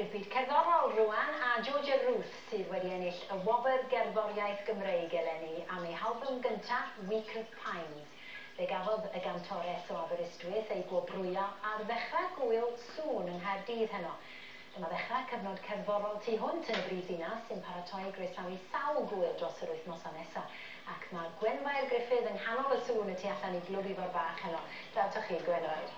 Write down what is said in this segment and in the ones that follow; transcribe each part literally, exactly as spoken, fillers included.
I'r byd cerddorol rwan, a Georgia Ruth sydd wedi ennill y Wobr Gerddoriaeth Gymreig eleni am ei halbwm gyntaf, Week of Pines. Fe gafodd y gantores o Aberystwyth ei gwobrwyo ar ddechrau gŵyl Sŵn yng Nghaerdydd heno. Dyma ddechrau cyfnod cerddorol tu hwnt yn y brif ddinas sy'n paratoi groesawu sawl gŵyl dros yr wythnosau nesaf. Ac mae Gwenfair Griffith yng nghanol y sŵn y tu allan i Glwb Ifor Bach heno. Draw atoch chi, Gwenfair.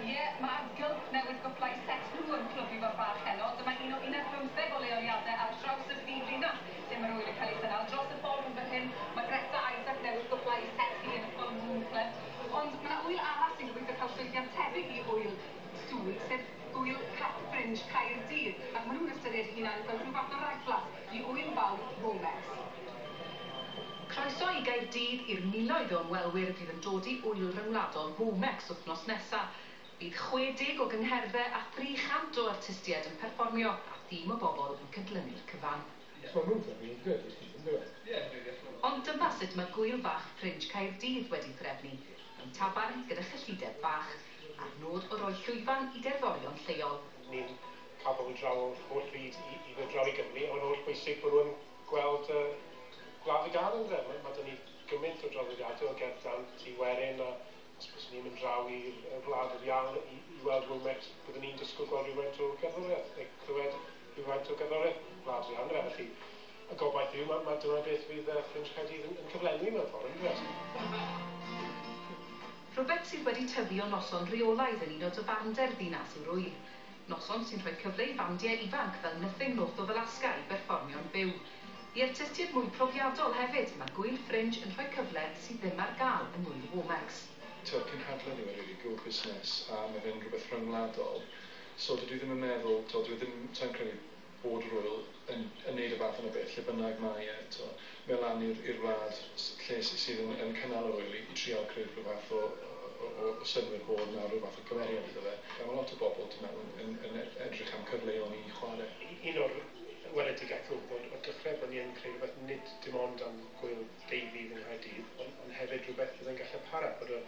Ie, yeah, mae Gulp newydd gwblhau set nhw yn Clwb Ifor Bach heno. Dyma un o un ar bymtheg o leoliadau ar draws y brif ddinas lle mae'r ŵyl yn cael ei chynnal. Dros y ffordd yn fan hyn, mae Greta Isaac newydd gwblhau set hi yn y Full Moon Club. Ond mae yna ŵyl arall sy'n gobeithio cael llwyddiant tebyg i ŵyl Sŵn, sef ŵyl Cap Fringe Caerdydd. Ac maen nhw'n ystyried hunan fel rhyw fath o ragflas i ŵyl fawr Womex. Croeso i Gaerdydd i'r miloedd o ymwelwyr fydd yn dod i ŵyl ryngwladol Womex wythnos nesaf. Bydd chwe deg o gyngherddau a thri chant o artistiaid yn perfformio a thîm o bobl yn cydlynu'r cyfan. Ond dyma sut mae gŵyl fach Fringe Caerdydd wedi threfnu, mewn tafarn gyda chyllideb fach, a'r nod o roi llwyfan i gerddorion lleol. Ni'n cael pobl draw o'r holl fyd i, i ddod draw i Gymru, ond holl bwysig bod nhw'n gweld uh, gwlad y gân ynddo. Mae, mae 'da ni gymaint o draddodiadau o gerdd dant i werin, a os byswn ni'n mynd draw i'r wlad yr iawn i, i weld Womex, byddwn ni'n disgwyl gweld rhywfaint o gerddoriaeth, neu clywed rhywfaint o gerddoriaeth gwlad yr iawn. Felly, y gobaith yw, mae, mae dyna beth fydd uh, Fringe Caerdydd yn, yn cyflenwi mewn ffordd, yn Rhywbeth sydd wedi tyfu o noson reolaidd yn un o dafarndai'r ddinas yw'r ŵyl. Noson sy'n rhoi cyfle i fandiau ifanc fel Nothing North of Alaska i berfformio'n byw. I artistiaid mwy profiadol hefyd, mae gŵyl Fringe yn rhoi cyfle sydd ddim ar gael yng ngŵyl Womex. Tyw'r cynhadledd yw e really, gŵyl busnes, a mae fe'n rhywbeth rhyngwladol. So dydw i ddim yn meddwl, to, dwi ddim, sa i'n credu bod yr ŵyl yn, yn neud y fath yna beth, lle bynnag mae e, to, mae lan i'r i'r wlad lle sydd yn, yn cynnal yr ŵyl i, i trial creu rhyw fath o, o, o, o synnwyr bod 'na rhyw fath o gymeriad iddo fe. A mae lot o bobl, dwi'n meddwl, yn, yn, yn edrych am cyfleon i chwarae. Un o'r weledigaeth oedd o'r dechrau bod ni yn creu rhywbeth nid dim ond am gŵyl deuddydd yng Nghaerdydd, ond, ond hefyd rhywbeth fydd yn gallu para, bod y,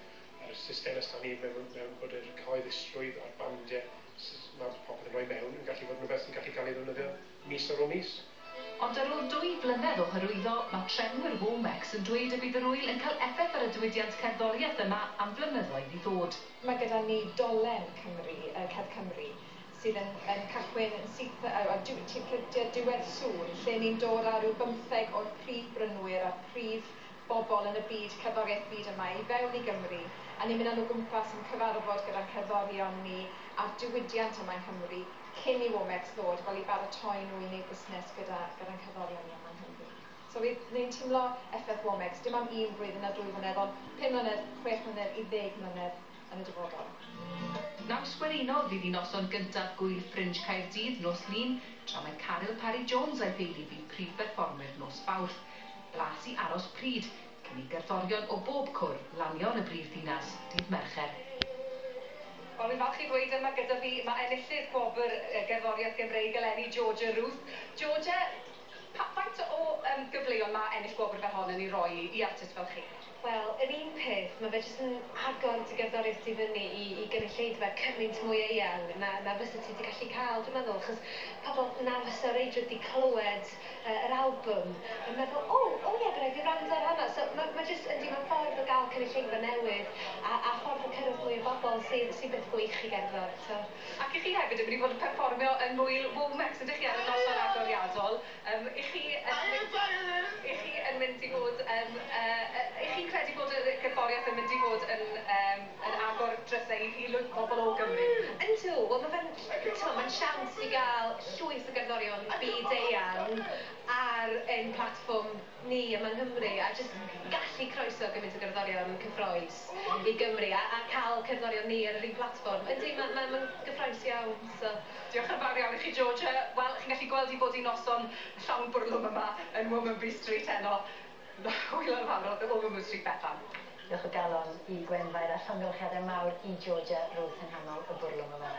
yr system ystan ni mewn, mewn bod yr cyhoeddusrwydd a'r bandiau mae popeth yn rhoi mewn yn gallu fod yn rhywbeth sy'n gallu cael ei ddefnyddio mis ar ôl mis. Ond ar ôl dwy flynedd o hyrwyddo, mae trefnwyr Womex yn dweud y bydd yr ŵyl yn cael effaith ar y diwydiant cerddoriaeth yma am flynyddoedd i ddod. Mae gyda ni dolen Cymru, uh, Cerdd Cymru, sydd yn, yn cychwyn yn syth uh, diwedd Sŵn, lle ni'n dod â rhyw bymtheg o'r prif brynwyr a'r prif bobl yn y byd, cerddoriaeth byd yma, i fewn i Gymru, a ni'n mynd â nhw gwmpas yn cyfarfod gyda'n cerddorion ni a'r diwydiant yma yng Nghymru cyn i Womex ddod, fel i baratoi nhw i wneud busnes gyda, gyda'n cerddorion ni yma yng Nghymru. So ni'n teimlo effaith Womex, dim am un blwyddyn a dwy flynedd, ond pum mlynedd, chwech mlynedd i ddeg mlynedd yn y dyfodol. Naws gwerinol fydd i noson gyntaf gŵyl Fringe Caerdydd nos Lun, tra mae Caryl Parry Jones a'i theulu fydd prif berfformwyr nos Fawrth. Blas i aros pryd, cyn i gerddorion o bob cwr lanio yn y brif ddinas dydd Mercher. Wel, fi'n falch i ddweud yma gyda fi, mae enillydd gwobr gerddoriaeth Gymreig eleni, Georgia Ruth. Georgia, pa, faint o um, gyfleon mae ennill gwobr fel hon yn ei roi i, i artist fel chi? Wel, yr un peth, mae fe jyst yn agor dy gerddoriaeth ti fyny i, i gynulleidfa cymaint mwy eang na, na fysa ti wedi gallu cael, dwi'n meddwl, achos pobl na fysa reidrwydd wedi clywed uh, yr album yn meddwl, o, o ie, bydd rhaid fi wrando ar hwnna. So mae ma jyst, yndi, mae'n ffordd o gael cynulleidfa newydd a, a ffordd o cyrraedd mwy o bobl sy'n sy beth gwych i gerddor. So. Ac i chi hefyd yn mynd i fod yn perfformio yn ngŵyl Womex, ydych chi ar y noson agoriadol. Um, i chi yn, i chi yn mynd i fod, um, uh, i chi'n credu bod y gerddoriaeth yn mynd i fod yn, um, yn agor drysau i, i lwyth bobl o Gymru? Yndw, wel mae fe'n, mae'n siawns i gael llwyth o gerddorion byd eang ar ein platfform ni yma yng Nghymru a jyst gallu croeso gymaint o gerddorion cyffrous i Gymru a, a cael cerddorion ni ar yr un platfform. Yndi, mae'n ma, ma gyffrous iawn. So. Diolch yn fawr iawn i chi, Georgia. Wel, chi'n gallu gweld i bod i noson llawn bwrlwm yma yn Womanby Street heno. Hwyl yn fawr o Womanby Street, Bethan. Diolch o galon i Gwenfair a llongyfarchiadau mawr i Georgia Ruth yng nghanol y bwrlwm yma.